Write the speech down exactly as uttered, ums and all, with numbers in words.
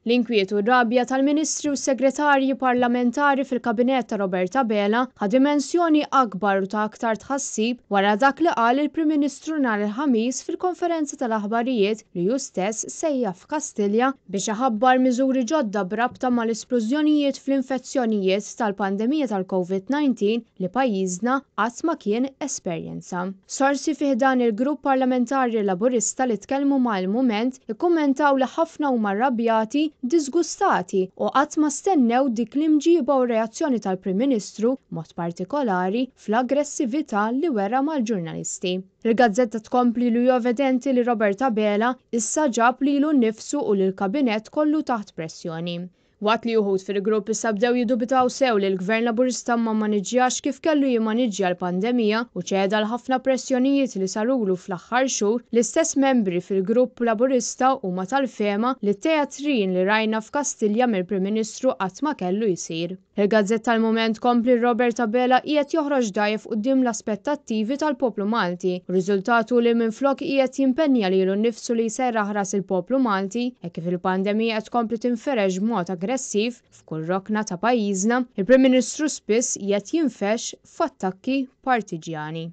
L-inkwiet u r-rabja tal-Ministri u Segretarji Parlamentari fil-Kabinett ta' Robert Abela ħa dimensjoni akbar u ta' aktar tħassib wara dak li qal il-Prim Ministru nhar il-Ħamis fil-konferenza tal-aħbarijiet li hu stess sejjaħ f'Kastilja biex iħabbar miżuri ġodda b'rabta mal-isplużjonijiet fl-infezzjonijiet tal-pandemija tal-Covid nineteen li pajjiżna qatt ma kien esperjenza. Sorsi fi ħdan il-grupp parlamentari Laburista li tkellmu ma' Il-Mument ikkummentaw li ħafna huma rrabjati, disgustati u qatt ma stennew dik l-imġiba u reazzjoni tal-Prim Ministru, mod partikolari fl-aggressività li wera mal-ġurnalisti. Il-gazzetta tkompli li hu evidenti li Robert Abela issa ġab lilu nnifsu u lill-kabinett kollu taħt pressjoni. Waqt li uħud fil-grupp issa bdew jiddubitaw sew li l-Gvern Laburista ma maniġġjax kif kellu jimmaniġġja l-pandemija u ċeda l ħafna pressjonijiet li sarulu fl-aħħar xhur, l-istess membri fil-grupp Laburista huma tal-fehma li t-teatrin li rajna f'Kastilja mill-Prim Ministru qatt ma kellu jsir. Il-Gazzetta tal-Mument kompli Robert Abela qiegħed joħroġ dgħajjef quddiem l-aspettattivi tal-poplu Malti, u riżultatu li minflok qiegħed jimpenja lilu nnifsu li jserraħ ras il-poplu Malti, hekk kif il-pandemija qed tkompli tinferex b'mod aggressiv f'kull rokna ta' pajjiżna, il-Prim Ministru spiss qiegħed jinfex f'attakki partiġjani.